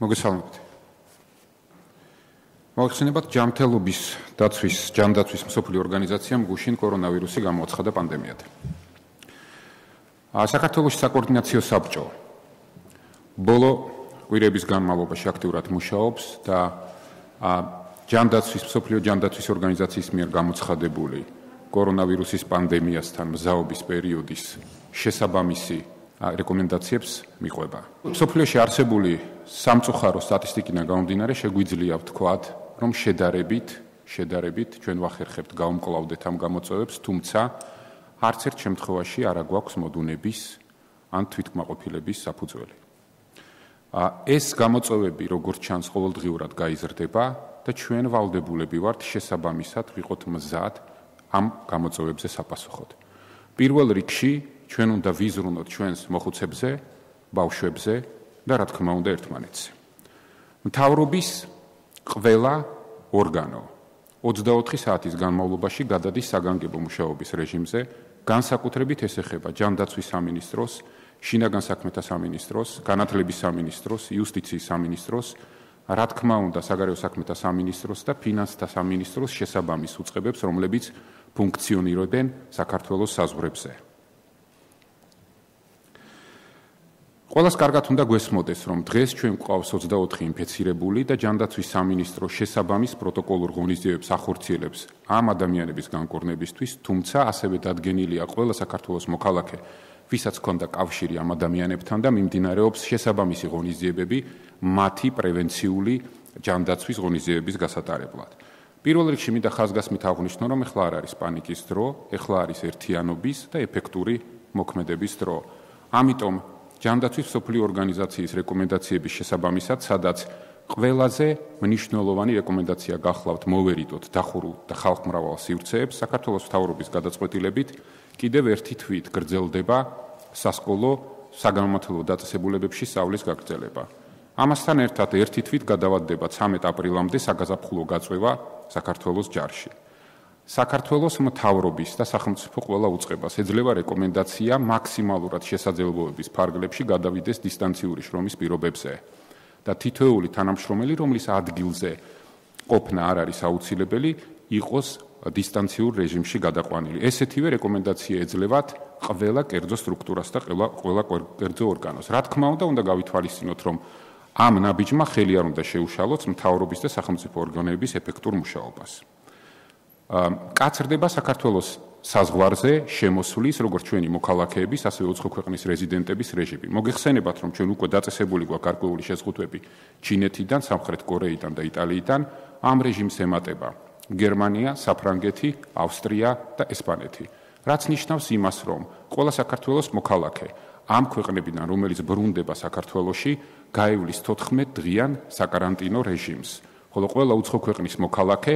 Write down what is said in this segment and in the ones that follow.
მოგესალმებით. მოახსენებათ ჯანმრთელობის ჯანდაცვის მსოფლიო ორგანიზაციამ გუშინ კორონავირუსი გამოაცხადა პანდემიად. საქართველოს საკოორდინაციო საბჭო ბოლო კვირების განმავლობაში აქტიურად მუშაობს და მსოფლიო ჯანდაცვის ორგანიზაციის მიერ გამოცხადებული კორონავირუსის პანდემიასთან მზაობის პერიოდის შესაბამისი რეკომენდაციებს მიყვება. მსოფლიოში არსებული სამწუხარო სტატისტიკიდან გამომდინარე შეგვიძლია ვთქვათ, რომ შედარებით ჩვენ ვახერხებთ გავუმკლავდეთ ამ გამოწვევებს, თუმცა არც ერთ შემთხვევაში არ აგვაქვს მოდუნების ან თვითკმაყოფილების საფუძველი. ეს გამოწვევები, როგორც ჩანს, ყოველდღიურად გაიზრდება და ჩვენ ვალდებულები ვართ შესაბამისად ვიყოთ მზად ამ გამოწვევებზე საპასუხოდ. პირველ რიგში ჩვენ უნდა ვიზრუნოთ ჩვენს მოხუცებზე, ბავშვებზე და რა თქმა უნდა ერთმანეთზე. მთავრობის ყველა ორგანო 24 საათის განმავლობაში გადადის საგანგებო მუშაობის რეჟიმზე, განსაკუთრებით ეს ეხება ჯანდაცვის სამინისტროს, შინაგან საქმეთა სამინისტროს, განათლების სამინისტროს, იუსტიციის სამინისტროს, რა თქმა უნდა საგარეო საქმეთა სამინისტროს და ფინანსთა სამინისტროს შესაბამის უწყებებს, რომლებიც ფუნქციონირებენ საქართველოს საზღვრებზე. ყველას კარგად უნდა გვესმოდეს, რომ დღეს ჩვენ გვყავს 24 ინფეცირებული და ჯანდაცვის სამინისტრო შესაბამის პროტოკოლურ ღონისძიებებს ახორციელებს ამ ადამიანების განკურნებისთვის, თუმცა ასევე დადგენილია ყველა საქართველოს მოქალაქე, ვისაც ჰქონდა კავშირი ამ ადამიანებთან და მიმდინარეობს შესაბამისი ღონისძიებები მათი პრევენციული ჯანდაცვის ღონისძიებების გასატარებლად. პირველ რიგში მინდა ხაზგასმით აღვნიშნო, რომ ეხლა არ არის პანიკის დრო, ეხლა არის ერთიანობის და ეფექტური მოქმედების დრო. ამიტომ ჯანდაცვის მსოფლიო ორგანიზაციის რეკომენდაციების შესაბამისად, სადაც ყველაზე მნიშვნელოვანი რეკომენდაცია გახლავთ მოვერიდოთ დახურულ და ხალხმრავალ სივრცეებს, საქართველოს მთავრობის გადაწყვეტილებით კიდევ ერთი თვით გრძელდება სასკოლო საგანმანათლებლო დაწესებულებებში სწავლის გაგრძელება. ამასთან ერთად ერთი თვით გადავადდება 13 აპრილამდე საგაზაფხულო გაწვევა საქართველოს ჯარში. საქართველოს მთავრობის და სახელმწიფო ყველა უწყებას ეძლევა რეკომენდაცია მაქსიმალურად შესაძლებლობების ფარგლებში გადავიდეს დისტანციური შრომის პირობებზე და თითოეული თანამშრომელი, რომლის ადგილზე ყოფნა არ არის აუცილებელი, იყოს დისტანციურ რეჟიმში გადაყვანილი. ესეთივე რეკომენდაცია ეძლევათ ყველა კერძო სტრუქტურას და ყველა კერძო ორგანოს. რა თქმა უნდა გავითვალისწინოთ, რომ ამ ნაბიჯმა ხელი არ უნდა შეუშალოს მთავრობის და სახელმწიფო ორგანოების ეფექტურ მუშაობას. კაცრდება საქართველოს საზღვარზე შემოსვლის, როგორც ჩვენი მოქალაქეების, ასევე უცხო ქვეყნის რეზიდენტების რეჟიმი. მოგეხსენებათ, რომ ჩვენ უკვე დაწესებული გვაქვს გარკვეული შეზღუდვები ჩინეთიდან, სამხრეთ კორეიდან და იტალიიდან. ამ რეჟიმს ემატება გერმანია, საფრანგეთი, ავსტრია და ესპანეთი. რაც ნიშნავს იმას, რომ ყველა საქართველოს მოქალაქე ამ ქვეყნებიდან, რომელიც ბრუნდება საქართველოში, გაივლის 14 დღიან საკარანტინო რეჟიმს, ხოლო ყველა უცხო ქვეყნის მოქალაქე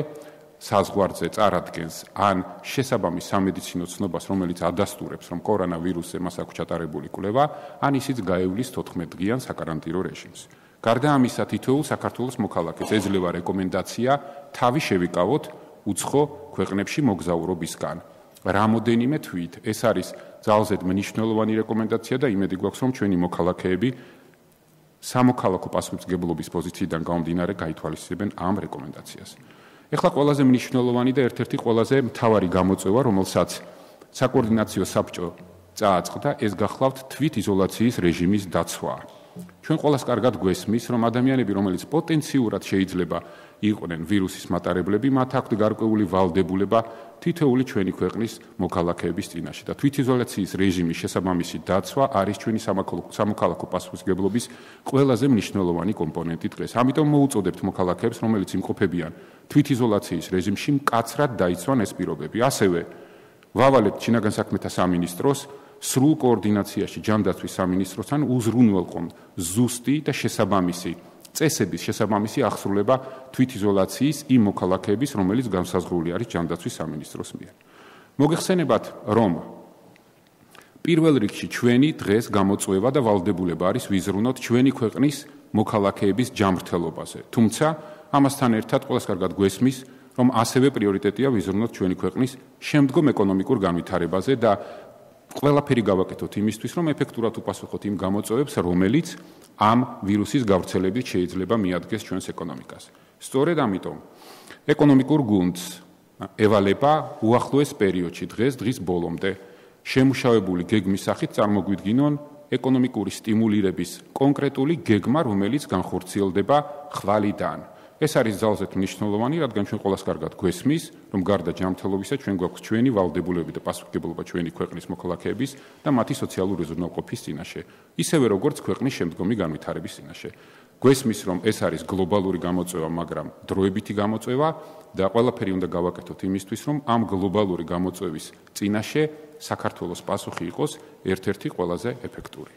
საზღვარზე წარადგენს ან შესაბამის სამედიცინო ცნობას, რომელიც ადასტურებს, რომ კორონავირუსზე მას აქვს ჩატარებული კვლევა, ან ისიც გაივლის 14 დღიან საკარანტინო რეჟიმს. გარდა ამისა, თითოეულ საქართველოს მოქალაქეს ეძლევა რეკომენდაცია თავი შევიკავოთ უცხო ქვეყნებში მოგზაურობისგან. რამოდენიმე თვით ეს არის ძალზედ მნიშვნელოვანი რეკომენდაცია და იმედი გვაქვს, რომ ჩვენი მოქალაქეები სამოქალაქო პასუხისმგებლობის პოზიციიდან გამომდინარე გაითვალისწინებენ ამ რეკომენდაციას. ეხლა ყველაზე მნიშვნელოვანი და ერთ-ერთი ყველაზე მთავარი გამოწვევა, რომელსაც საკოორდინაციო საბჭო წააწყდა, ეს გახლავთ თვითიზოლაციის რეჟიმის დაცვა. ჩვენ ყველას კარგად გვესმის, რომ ადამიანები, რომელიც პოტენციურად შეიძლება იყვნენ ვირუსის მატარებლები, მათ აქვთ გარკვეული ვალდებულება თითოეული ჩვენი ქვეყნის მოქალაქეების წინაშე და თვითიზოლაციის რეჟიმის შესაბამისი დაცვა არის ჩვენი სამოქალაქო პასუხისმგებლობის ყველაზე მნიშვნელოვანი კომპონენტი დღეს. ამიტომ მოუწოდებთ მოქალაქეებს, რომელიც იმყოფებიან თვითიზოლაციის რეჟიმში, მკაცრად დაიცვან ეს პირობები. ასევე ვავალებთ შინაგან საქმეთა სამინისტროს სრულ კოორდინაციაში ჯანდაცვის სამინისტროსთან უზრუნველყონ ზუსტი და შესაბამისი წესების შესაბამისი აღსრულება თვითიზოლაციის იმ მოქალაქეების, რომელიც განსაზღვრული არის ჯანდაცვის სამინისტროს მიერ. მოგეხსენებათ, რომ პირველ რიგში ჩვენი დღეს გამოწვევა და ვალდებულება არის ვიზრუნოთ ჩვენი ქვეყნის მოქალაქეების ჯანმრთელობაზე. თუმცა ამასთან ერთად ყველას კარგად გვესმის, რომ ასევე პრიორიტეტია ვიზრუნოთ ჩვენი ქვეყნის შემდგომ ეკონომიკურ განვითარებაზე და ყველაფერი გავაკეთოთ იმისთვის, რომ ეფექტურად უპასუხოთ იმ გამოწვევებს, რომელიც ამ ვირუსის გავრცელებით შეიძლება მიადგეს ჩვენს ეკონომიკას. სწორედ ამიტომ ეკონომიკურ გუნდს ევალება უახლოეს პერიოდში დღის ბოლომდე შემუშავებული გეგმის სახით წარმოგვიდგინონ ეკონომიკური სტიმულირების კონკრეტული გეგმა, რომელიც განხორციელდება ხვალიდან. ეს არის ძალზედ მნიშვნელოვანი, რადგან ჩვენ ყველას კარგად გვესმის, რომ გარდა ჯანმრთელობისა ჩვენ გვაქვს ჩვენი ვალდებულებები და პასუხისმგებლობა ჩვენი ქვეყნის მოქალაქეების და მათი სოციალური უზრუნველყოფის წინაშე, ისევე როგორც ქვეყნის შემდგომი განვითარების წინაშე. გვესმის, რომ ეს არის გლობალური გამოწვევა, მაგრამ დროებითი გამოწვევა და ყველაფერი უნდა გავაკეთოთ იმისთვის, რომ ამ გლობალური გამოწვევის წინაშე საქართველოს პასუხი იყოს ერთ-ერთი ყველაზე ეფექტური.